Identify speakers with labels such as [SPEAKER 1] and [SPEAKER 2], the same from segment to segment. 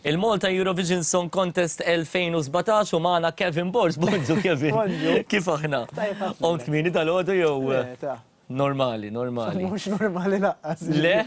[SPEAKER 1] Il-Malta Eurovision Song Contest 2017 u magħna Kevin Borg. Bonġu Kevin.
[SPEAKER 2] Bonġu.
[SPEAKER 1] Kif aħna?
[SPEAKER 2] Tajjeb ħafna.
[SPEAKER 1] Qomt kmieni dal-għodu jew?
[SPEAKER 2] Le, ta.
[SPEAKER 1] Normali, normali.
[SPEAKER 2] Mhux normali lanqas.
[SPEAKER 1] Le,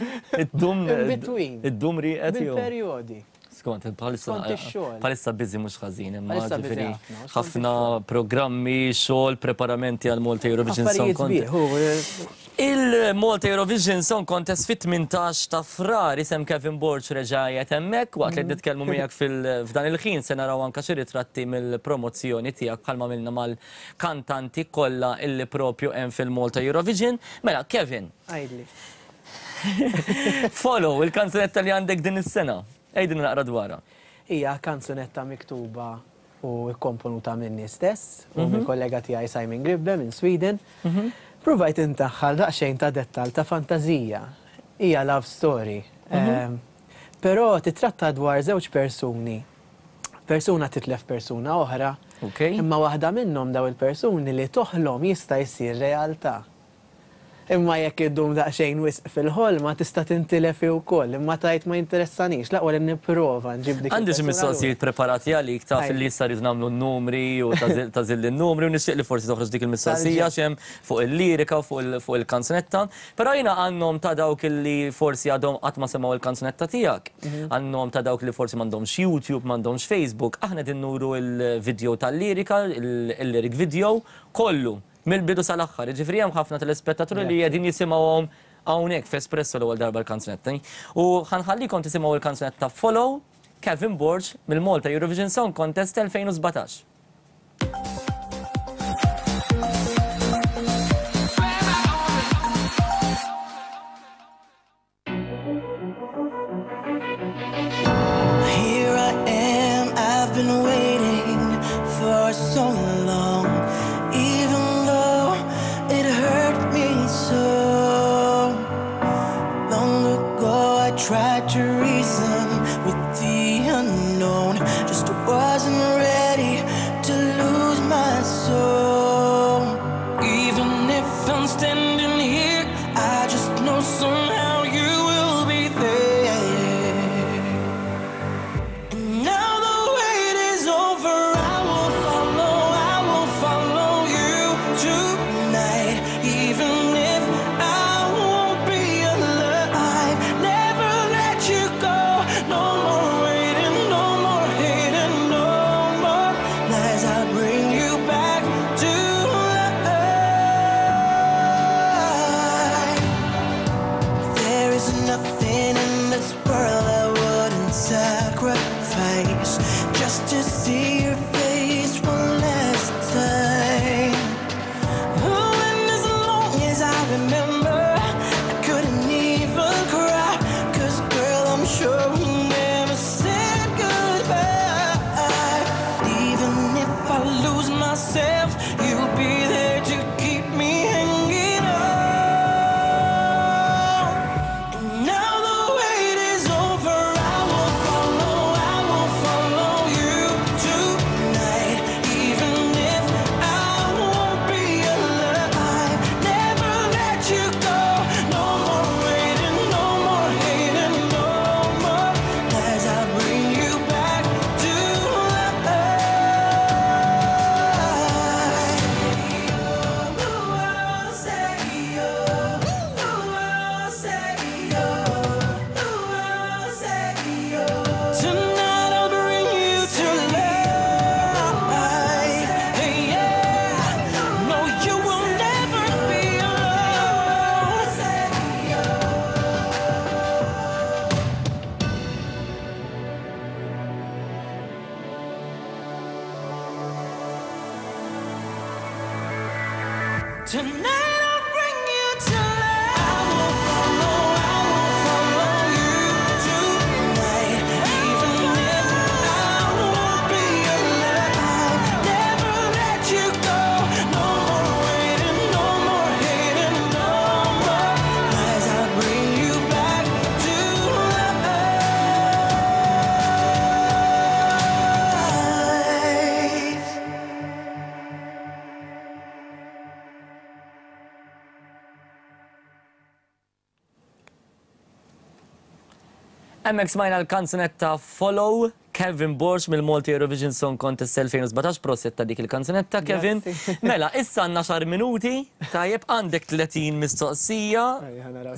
[SPEAKER 1] id-dum.
[SPEAKER 2] In between.
[SPEAKER 1] Id-dum rieqed jew?
[SPEAKER 2] Bil-perjodi.
[SPEAKER 1] Skont, bħalissa.
[SPEAKER 2] Skont ix-xogħol.
[SPEAKER 1] Bħalissa busy mhux ħażin, imma
[SPEAKER 2] Bħalissa busy
[SPEAKER 1] ġifieri
[SPEAKER 2] ħafna, skont
[SPEAKER 1] ħafna programmi, xogħol, preparamenti għal Malta Eurovision Song
[SPEAKER 2] Affarijiet
[SPEAKER 1] Contest.
[SPEAKER 2] sbieħ, hu.
[SPEAKER 1] Il-Malta Eurovision Song Contest fit-18 ta' Frar isem Kevin Borg reġa' qiegħed hemmhekk waqt li qed nitkellmu miegħek f'dan il-ħin se naraw anke xi ritratti mill-promozzjoni tiegħek bħalma għamilna mal-kantanti kollha illi propju hemm fil-Malta Eurovision. Mela, Kevin.
[SPEAKER 2] Għidli.
[SPEAKER 1] Follow, il-kanzunetta li għandek din is-sena. Għidilna naqra dwarha.
[SPEAKER 2] Hija kanzunetta miktuba u kkomponuta minni stess u mill-kollega tiegħi Simon Gribbe minn Sweden. Pruvajt indaħħal daqsxejn ta' dettal ta' fantażija. Hija love story. Però titratta dwar żewġ persuni. Persuna titlef persuna oħra. Imma waħda minnhom daw il-persuni li toħlom jista' jsir realtà. Imma jekk iddum daqsxejn wisq fil-ħolma tista' tintilef hi wkoll, imma tgħid ma jinteressanix, l-aqwa li nipprova nġib dik
[SPEAKER 1] Għandi xi
[SPEAKER 2] il-persuna lura.
[SPEAKER 1] mistoqsijiet preparati għalik, taf li issa rridu nagħmlu n-numri u tagħżilli n-numri u nixtieq li forsi toħroġ dik il-mistoqsija
[SPEAKER 2] Tal-ġenn.
[SPEAKER 1] x'hemm fuq il-lirika u fuq il-kanzunetta. Però jiena għan-nom ta' dawk li forsi għadhom qatt ma semgħu l-kanzunetta tiegħek, għan-nom ta' dawk li forsi m'għandhomx YouTube, m'għandhomx Facebook, aħna qegħdin nuru l-video tal-lirika, il-lyric video, kollu. Mill-bidu sal-aħħar, jiġifieri hemm ħafna telespettaturi li qegħdin jisimgħuhom hawnhekk f'Espresso l-ewwel darba l-kanzunetta. U ħa nħallikom tisimgħu l-kanzunetta Follow, Kevin Borg mill-Malta Eurovision Song Contest 2017.
[SPEAKER 3] Here I am, I've been waiting for so long, even though it hurt me so. Long ago I tried to reason with the unknown, just wasn't ready to lose my soul. Even if I'm standing here, I just know somehow you will be there. And now the wait is over, I will follow, I will follow you tonight. Even if I won't be alive, never let you go. No more waiting, no more hating, no more lies. I'll bring you back to life. There is nothing in this world I wouldn't sacrifice just to see your face one last time. Oh, and as long as I remember, I couldn't even cry. 'Cause girl, I'm sure we never said goodbye. Even if I lose myself, you'll be there to keep me hanging on. And now the wait is over, I will follow, I will follow you tonight. Even if I won't be alive, never let you go. No more waiting, no more hating, no more lies. I'll bring you back to life. Tonight I'll bring you to life. Hey, yeah. No, you will never be alone. Tonight I'll bring you to life. I will follow, I will follow you tonight. Even if I won't be alive, never let you go. No more waiting, no more hating, no more lies. I'll bring you back to life.
[SPEAKER 1] Hemmhekk smajna l-kanzunetta Follow, Kevin Borg mill-Malta Eurovision Song Contest 2017, prosit ta' dik il-kanzunetta Kevin. Mela, issa għandna xar minuti, tajjeb għandek 30 mistoqsija,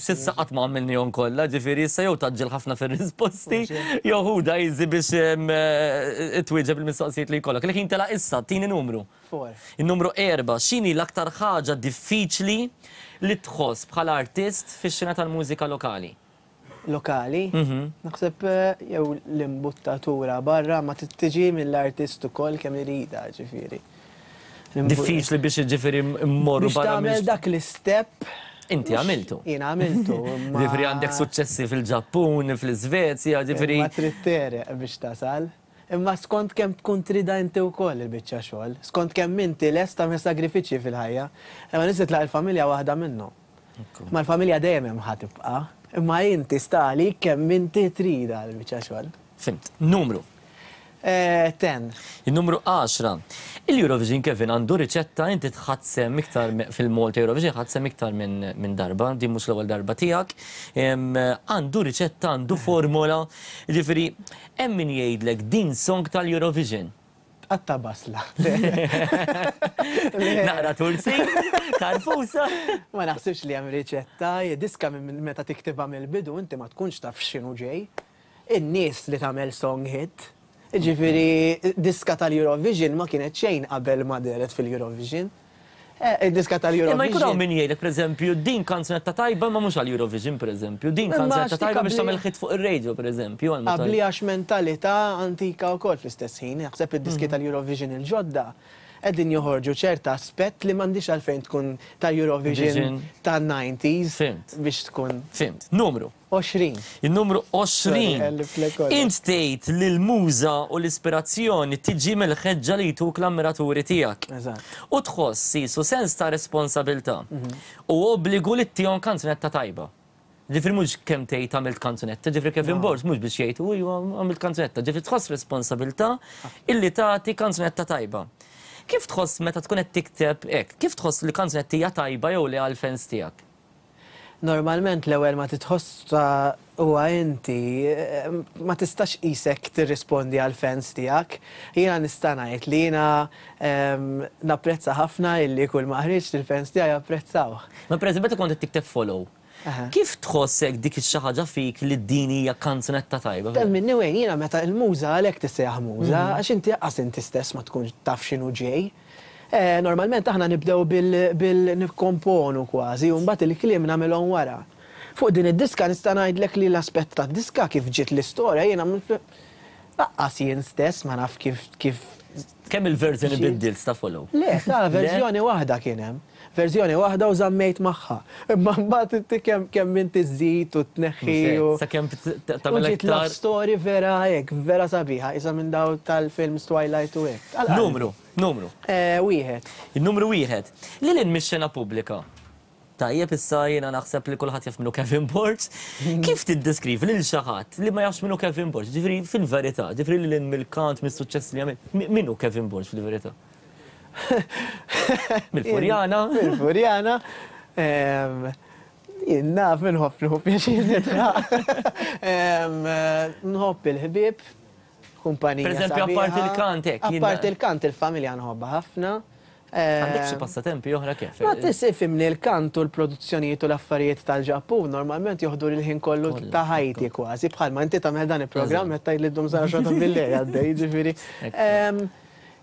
[SPEAKER 1] s'issa qatt ma għamilnihom kollha, ġifieri issa jew tgħaġġel ħafna fir-risposti, jew ħudha easy biex twieġeb il-mistoqsijiet li jkollok. Il-ħin telaq issa, tini numru. Il-numru 4, x'inhi l-aktar ħaġa diffiċli li tħoss bħala artist fix-xena tal-mużika lokali?
[SPEAKER 2] Lokali. Naħseb jew l-imbuttatura barra ma tiġi mill-artist ukoll kemm iridha, ġifieri.
[SPEAKER 1] Diffiċli biex ġifieri mmorru
[SPEAKER 2] barra. Biex tagħmel dak l-istep.
[SPEAKER 1] Inti għamiltu.
[SPEAKER 2] Jien għamiltu.
[SPEAKER 1] Ġifieri għandek suċċessi fil-Ġappun, fl-Iżvezja, ġifieri.
[SPEAKER 2] Ma trid tereq biex tasal. Imma skont kemm tkun tridha inti wkoll il-biċċa xogħol, skont kemm inti lest tagħmel sagrifiċċji fil-ħajja. Imma nies titlaq il-familja waħda minnhom. Ma l-familja dejjem hemm ħa tibqa'. Imma inti sta għalik kemm inti tridha l-biċċa xogħol.
[SPEAKER 1] Fhimt. Numru.
[SPEAKER 2] Ten.
[SPEAKER 1] In-numru għaxra. Il-Eurovision Kevin għandu riċetta inti tħadd sehem iktar fil-Malta Eurovision ħadt sehem iktar minn darba, din mhux l-ewwel darba tiegħek. Għandu riċetta, għandu formola, jiġifieri hemm min jgħidlek din song tal-Eurovision.
[SPEAKER 2] Tqatta' basla.
[SPEAKER 1] Naqra tursin, tarfusa.
[SPEAKER 2] Ma naħsibx li hemm riċetta, diska minn meta tiktibha mill-bidu inti ma tkunx taf x'inhu ġej. In-nies li tagħmel song hit. Jiġifieri diska tal-Eurovision ma kienet xejn qabel ma dehret fil-Eurovision. Id-diska tal-Eurovision.
[SPEAKER 1] Imma jkun hawn min jgħidlek pereżempju din kanzunetta tajba imma mhux għall-Eurovision pereżempju, din kanzunetta tajba biex tagħmel hit fuq ir-radio pereżempju.
[SPEAKER 2] Qabli għax mentalità antika wkoll fl-istess ħin. Naħseb id-diski tal-Eurovision il-ġodda qegħdin joħorġu ċerta aspett li m'għandhiex għalfejn tkun tal-Eurovision tan-90s biex tkun.
[SPEAKER 1] Fhimt. Numru.
[SPEAKER 2] 20.
[SPEAKER 1] In-numru 20. Int tgħid li l-muża u l-ispirazzjoni tiġi mill-ħeġġa li jtuk l-ammiraturi tiegħek. U tħoss qisu sens ta' responsabilità u obbligu li ttihom kanzunetta tajba. Ġifieri mhux kemm tgħid għamilt kanzunetta, ġifieri Kevin Borg mhux biex jgħid u iva għamilt kanzunetta, ġifieri tħoss responsabilità illi tagħti kanzunetta tajba. Kif tħoss meta tkun qed tikteb hekk? Kif tħoss li kanzunetta hija tajba jew le għall-fans tiegħek?
[SPEAKER 2] Normalment l-ewwel ma titħossha huwa inti, ma tistax qisek tirrispondi għall-fans tiegħek. Jiena nista' ngħid li jiena napprezza ħafna illi kull ma ħriġt il-fans tiegħi apprezzawh.
[SPEAKER 1] Ma pereżempju meta kont qed tikteb Follow, kif tħoss hekk dik ix-xi ħaġa fik li din hija kanzunetta tajba?
[SPEAKER 2] Temminni Wayne, jiena meta l-muża għalhekk tissejjaħ muża, għax inti lanqas inti stess ma tkunx taf x'inhu ġej. Normalment aħna nibdew bil nikkomponu kważi u mbagħad il-kliem nagħmilhom wara. Fuq din id-diska nista' ngħidlek li l-aspett tad-diska kif ġiet l-istorja jiena lanqas jien stess ma naf kif kif
[SPEAKER 1] Kemm il-verżjoni biddilt ta' Follow?
[SPEAKER 2] Le, ta' verżjoni waħda kien hemm. Verżjoni waħda u żammejt magħha. Imma mbagħad inti kemm kemm inti żżid u tneħħi u.
[SPEAKER 1] Sakemm tagħmel
[SPEAKER 2] aktar. U ġiet love story vera hekk, vera sabiħa, qisha minn dawn tal-films Twilight u hekk.
[SPEAKER 1] Numru. Numru.
[SPEAKER 2] Wieħed.
[SPEAKER 1] In-numru wieħed. Lil hinn mix-xena pubblika. Tajjeb issa jiena naħseb li kulħadd jaf min hu Kevin Borg. Kif tiddeskrivi lil xi ħadd li ma jafx min hu Kevin Borg? Ġifieri fil-verità, ġifieri lil hinn mill-kant, mis-suċċess li għamel, min hu Kevin Borg fil-verità? Mill-Furjana?
[SPEAKER 2] Mill-Furjana. Jien naf inħobb nieħu pjaċir nidħaq. Nħobb il-ħbieb. Kumpanija.
[SPEAKER 1] Per eżempju, apparti il-kant hekk.
[SPEAKER 2] Apparti il-kant il-familja nħobbha ħafna.
[SPEAKER 1] Għandek xi passatempi oħra kif?
[SPEAKER 2] Ma tisifimni l-kant u l-produzzjonijiet u l-affarijiet tal-Ġappun normalment joħdu l-ħin kollu ta' ħajti kważi bħalma inti tagħmel dan il-programm qed tgħid li ddum sa xogħol ta' bil-lejl għaddej, jiġifieri.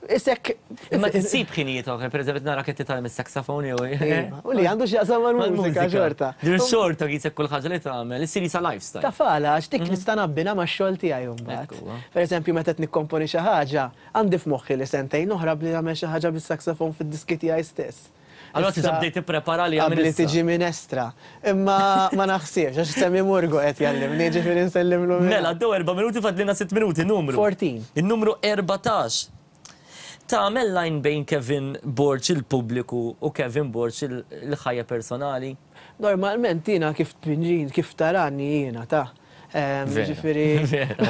[SPEAKER 1] Isek. Imma tsib ħinijiet oħra, per eżempju nara qed titgħallem is-saxophone jew.
[SPEAKER 2] Iva, u li għandu x'jaqsam mal-mużika xorta.
[SPEAKER 1] Din xorta qisek kull ħaġa li tagħmel, issir qisha lifestyle.
[SPEAKER 2] Taf għala, għax dik nista' nabbinha max-xogħol tiegħi mbagħad. Per eżempju meta qed nikkomponi xi ħaġa, għandi f'moħħi li sentejn oħra bli nagħmel xi ħaġa bis-saxophone fid-diski tiegħi stess.
[SPEAKER 1] Allura tista' bdejt tipprepara għaliha minn
[SPEAKER 2] issa. Qabli tiġi minestra. Imma ma naħsibx, għax Sammy Murgo qed jgħallimni, jiġifieri nsellimlu minn.
[SPEAKER 1] Mela, għaddew erba' minuti fadlilna sitt minuti, numru.
[SPEAKER 2] 14.
[SPEAKER 1] In-numru 14. Tagħmel line bejn Kevin Borg il-pubbliku u Kevin Borg il-ħajja personali?
[SPEAKER 2] Normalment jiena kif tpinġini, kif tarani jiena ta'.
[SPEAKER 1] Jiġifieri. Vera.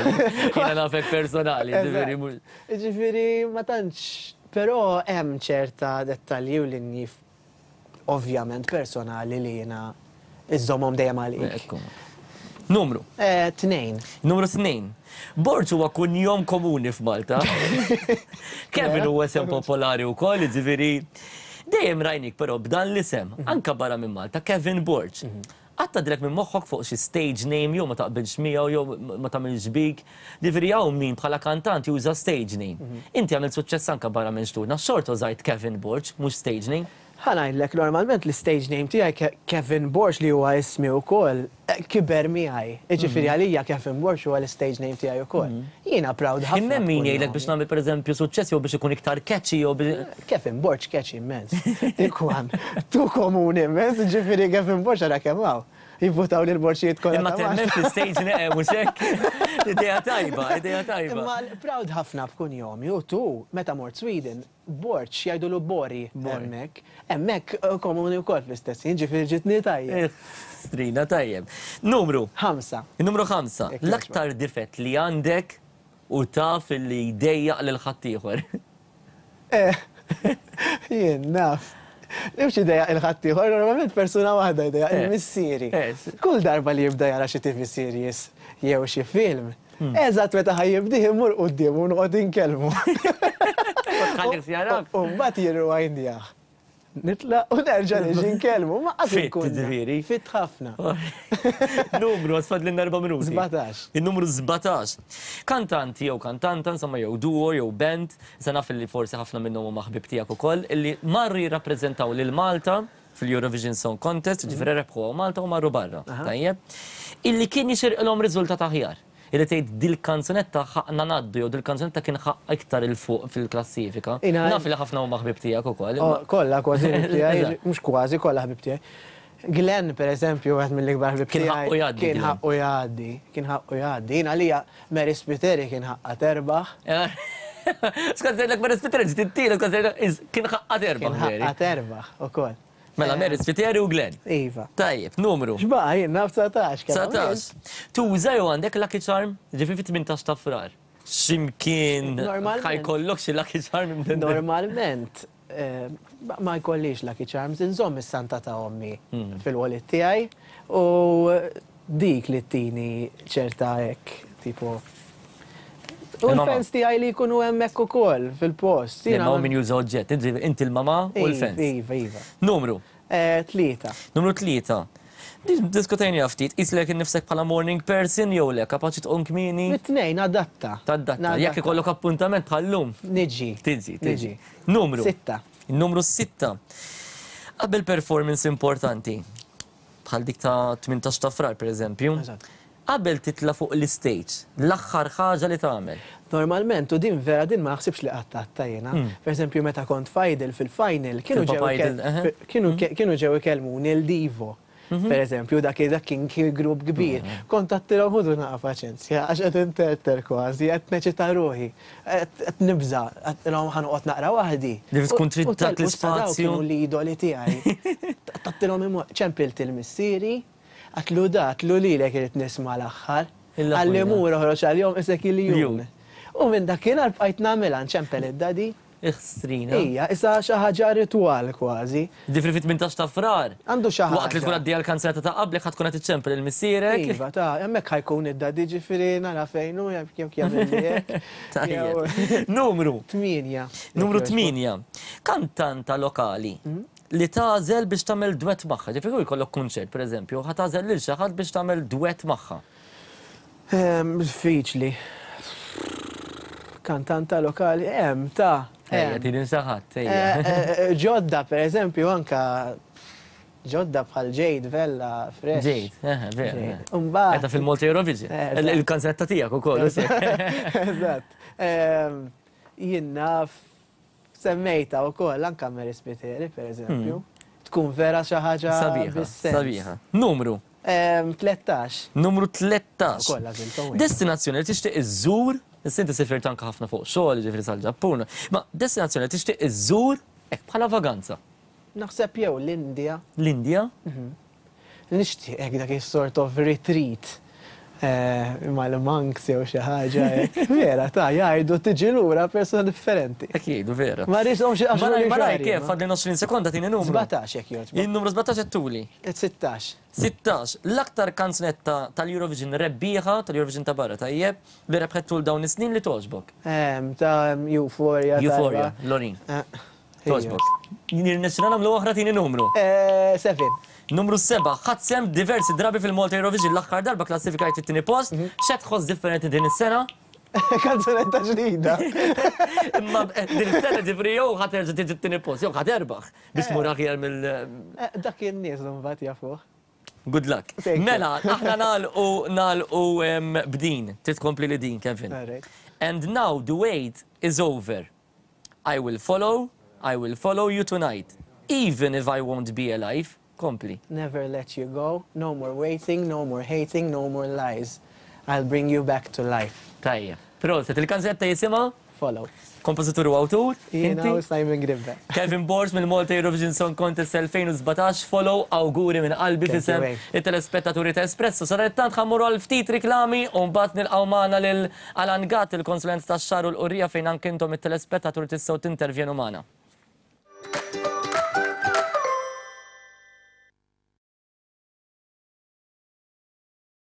[SPEAKER 1] Jiena nafek personali, jiġifieri mhux.
[SPEAKER 2] Jiġifieri ma tantx Però hemm ċerta dettalji u linji ovvjament personali li jiena iżżommhom dejjem għalik.
[SPEAKER 1] Ekku. Numru.
[SPEAKER 2] Tnejn.
[SPEAKER 1] Numru 2. Borg huwa kunjom komuni f'Malta. Kevin huwa isem popolari wkoll, jiġifieri dejjem rajnik però b'dan l-isem, anke barra minn Malta, Kevin Borg. Qatt għaddielek minn moħħok fuq xi stage name jew ma taqbilx miegħu jew ma tagħmilx bik? Jiġifieri hawn min bħala kantant juża stage name. Inti għamilt suċċess anke barra minn xtutna, xorta użajt Kevin Borg, mhux stage name.
[SPEAKER 2] Ħa ngħidlek, normalment l-istage name tiegħi Kevin Borg li huwa ismi wkoll, kiber miegħi. Jiġifieri għalija Kevin Borg huwa l-istage name tiegħi wkoll. Jiena proud ħafna.
[SPEAKER 1] Imma hemm min jgħidlek biex nagħmel pereżempju suċċess jew biex ikun iktar catchy jew biex.
[SPEAKER 2] Kevin Borg catchy immens. Dik one. Too komuni immens, jiġifieri Kevin Borg ara kemm hawn. Jivvutaw lill-Borġijiet kollha.
[SPEAKER 1] Imma temmen fl-istage name, mhux hekk? Idea tajba, idea tajba.
[SPEAKER 2] Imma proud ħafna b'kunjomi u tu meta mort Sweden Borg, jgħidulu Bori hemmhekk. Hemmhekk komuni wkoll fl-istess ħin, ġifieri ġietni tajjeb.
[SPEAKER 1] Strina tajjeb. Numru.
[SPEAKER 2] Ħamsa.
[SPEAKER 1] Numru ħamsa. L-aktar difett li għandek u taf li jdejjaq lil ħaddieħor.
[SPEAKER 2] Eh, jien naf. Mhux idejjaq il ħaddieħor, normalment persuna waħda jdejjaq il-missieri. Kull darba li jibda jara xi TV series jew xi film, Eżatt meta ħa jibdih immur quddiemu u noqgħod inkellmu.
[SPEAKER 1] Tħallih jarak.
[SPEAKER 2] U mbagħad jirrewindjah. Nitlaq u nerġa' niġi nkellmu. Ma qatt
[SPEAKER 1] Fit, ġifieri.
[SPEAKER 2] Fit ħafna.
[SPEAKER 1] Numru, għax fadlilna erba' minuti.
[SPEAKER 2] 17.
[SPEAKER 1] In-numru 17. Kantant jew kantanta, insomma jew duo jew band, issa naf li forsi ħafna minnhom huma ħbieb tiegħek ukoll, illi marru jirrappreżentaw lil Malta fil-Eurovision Song Contest, ġifieri rebħu hawn Malta u marru barra, tajjeb? Illi kien jixirqilhom riżultat aħjar. Illi tgħid dil-kanzunetta ħaqqna ngħaddu jew dil-kanzunetta kien ħaqqha iktar 'il fuq fil-klassifika. Naf li ħafna huma ħbieb tiegħek ukoll.
[SPEAKER 2] Kollha kważi ħbieb tiegħi, mhux kważi, kollha ħbieb tiegħi. Glenn, per eżempju, wieħed mill-ikbar ħbieb tiegħi.
[SPEAKER 1] Kien ħaqqu jgħaddi.
[SPEAKER 2] Kien ħaqqu jgħaddi, kien ħaqqu jgħaddi. Jien għalija Mary Spiteri kien ħaqqha terbaħ.
[SPEAKER 1] Skont ngħidlek Mary Spiteri ġiet it-tielet, kont ngħidlek kien ħaqqha terbaħ.
[SPEAKER 2] Kien ħaqqha terbaħ ukoll.
[SPEAKER 1] Mela Mary Spiteri u Glenn.
[SPEAKER 2] Iva.
[SPEAKER 1] Tajjeb, numru.
[SPEAKER 2] X'baqa' jien naf 19
[SPEAKER 1] kemm. 19. Tuża jew għandek lucky charm? Ġifieri fit-18 ta' Frar. X'imkien ħa jkollok xi lucky charm.
[SPEAKER 2] Normalment ma jkollix lucky charms, inżomm is-santa ta' ommi fil-wallet tiegħi u dik li ttini ċerta hekk tipo. U l-fans tiegħi li jkunu hemmhekk ukoll fil-post.
[SPEAKER 1] Imma hawn min juża oġġett, inti l-mamà u l-fans.
[SPEAKER 2] Iva, iva.
[SPEAKER 1] Numru.
[SPEAKER 2] Tlieta.
[SPEAKER 1] Numru tlieta. Diskutejniha ftit, qis lilek innifsek bħala morning person jew le, kapaċi tqum kmieni?
[SPEAKER 2] Mit-tnejn, nadatta.
[SPEAKER 1] Tadatta. Jekk ikollok appuntament bħal-lum?
[SPEAKER 2] Niġi.
[SPEAKER 1] Tiġi, tiġi. Numru.
[SPEAKER 2] Sitta.
[SPEAKER 1] Numru sitta. Qabel performance importanti, bħal dik ta' 18 ta' Frar pereżempju, qabel titla' fuq l-istage, l-aħħar ħaġa li tagħmel?
[SPEAKER 2] Normalment, u din vera din ma naħsibx li qatt għadtha jiena. Pereżempju meta kont f'Idol fil-final kienu ġew kienu ġew ikellmuni l-Divo. Pereżempju dak dak kien grupp kbir. Kont għadtilhom ħudu naqa' paċenzja għax qed interter kważi, qed neċita ruħi, qed nibża', għadtilhom ħa noqgħod naqra waħdi.
[SPEAKER 1] Li tkun trid dak l-ispazju.
[SPEAKER 2] Kienu l-idoli tiegħi. Għadtilhom ċempilt il-missieri, Għatlu da, għatlu lilek irrid nisma' l-aħħar. Qalli mur oħroġ għalihom isek iljun. U minn dakinhar bqajt nagħmilha nċempel id-daddy.
[SPEAKER 1] Iħstrina.
[SPEAKER 2] Ija, isa xi ħaġa ritwal kważi.
[SPEAKER 1] Ġifieri fit-18 ta' Frar.
[SPEAKER 2] Għandu xi ħaġa.
[SPEAKER 1] Waqt li tkun għaddejja l-kanzunetta ta' qablek ħa tkun qed iċċempel lil missierek.
[SPEAKER 2] Iva, ta' hemmhekk ħa jkun id-daddy ġifieri nara fejn hu jekk jagħmilli hekk.
[SPEAKER 1] Tajjeb. Numru.
[SPEAKER 2] Tmienja.
[SPEAKER 1] Numru tmienja. Kantanta lokali li tagħżel biex tagħmel dwett magħha. Ġifieri kieku jkollok kunċert, pereżempju, ħa tagħżel lil xi ħadd biex tagħmel dwett magħha.
[SPEAKER 2] Diffiċli. Kantanta lokali, hemm ta'.
[SPEAKER 1] Ejja, tini xi ħadd, ejja.
[SPEAKER 2] Ġodda, pereżempju, anka ġodda bħal Jade Vella, Fresh.
[SPEAKER 1] Jade, eħe, vera. Imbagħad. Qegħda fil-Malta Eurovision. Il-kanzunetta tiegħek ukoll.
[SPEAKER 2] Eżatt. Jien naf Semmejtha wkoll anke Mary Spiteri, pereżempju. Tkun vera xi ħaġa
[SPEAKER 1] Sabiħa, sabiħa. Numru?
[SPEAKER 2] 13.
[SPEAKER 1] Numru 13.
[SPEAKER 2] Ukoll għażilthom.
[SPEAKER 1] Destinazzjoni li tixtieq iżżur, issa inti sifirt anke ħafna fuq xogħol, jiġifieri sal-Ġappun, ma destinazzjoni li tixtieq iżżur hekk bħala vaganza.
[SPEAKER 2] Naħseb jew l-Indja.
[SPEAKER 1] L-Indja?
[SPEAKER 2] Nixtieq hekk dak is-sort of retreat. Mal-monks jew xi ħaġa hekk. Vera, ta' jgħidu tiġi lura persuna differenti.
[SPEAKER 1] Hekk jgħidu vera.
[SPEAKER 2] Ma rridhomx iqaxxruli
[SPEAKER 1] Malaj, malaj, kif fadli 20 sekonda tini numru.
[SPEAKER 2] 17 jekk jogħġbok.
[SPEAKER 1] Il-numru 17 qed tuli.
[SPEAKER 2] 16.
[SPEAKER 1] 16. L-aktar kanzunetta tal-Eurovision rebbieħa, tal-Eurovision ta' barra, tajjeb, li rebħet tul dawn is-snin li togħġbok.
[SPEAKER 2] Ta' Euphoria.
[SPEAKER 1] Euphoria, Loreen. Togħġbok. Nirnexxina nagħmlu oħra tini numru.
[SPEAKER 2] 7.
[SPEAKER 1] Numru 7, ħadt sehem diversi drabi fil-Malta Eurovision l-aħħar darba klassifikajt fit-tieni post. X'qed tħoss differenti din is-sena?
[SPEAKER 2] Kanzunetta ġdida.
[SPEAKER 1] Imma din is-sena ġifieri jew ħa terġa' tiġi t-tieni post jew ħa terbaħ biex tmur aħjar mill.
[SPEAKER 2] Dak in-nies imbagħad jafuh.
[SPEAKER 1] Good luck. Mela, aħna nagħlqu nagħlqu b'din. Trid tkompli li din, Kevin. And now the wait is over. I will follow, I will follow you tonight, even if I won't be alive. Kompli.
[SPEAKER 2] Never let you go, no more waiting, no more hating, no more lies. I'll bring you back to life.
[SPEAKER 1] Tajjeb. Proset, il-kanzunetta jisimha?
[SPEAKER 2] Follow.
[SPEAKER 1] Kompożitur u awtur?
[SPEAKER 2] Jiena u Simon Gribbe.
[SPEAKER 1] Kevin Borg mill-Malta Eurovision Song Contest 2017, Follow, awguri minn qalbi f'isem it-telespettaturi ta' Espresso. Sadanittant ħa mmorru għal ftit riklami u mbagħad nilqgħu magħna lil Alan Gatt, il-konsulent tax-xagħar u l-qurrija fejn anke intom it-telespettaturi tistgħu tintervjenu magħna.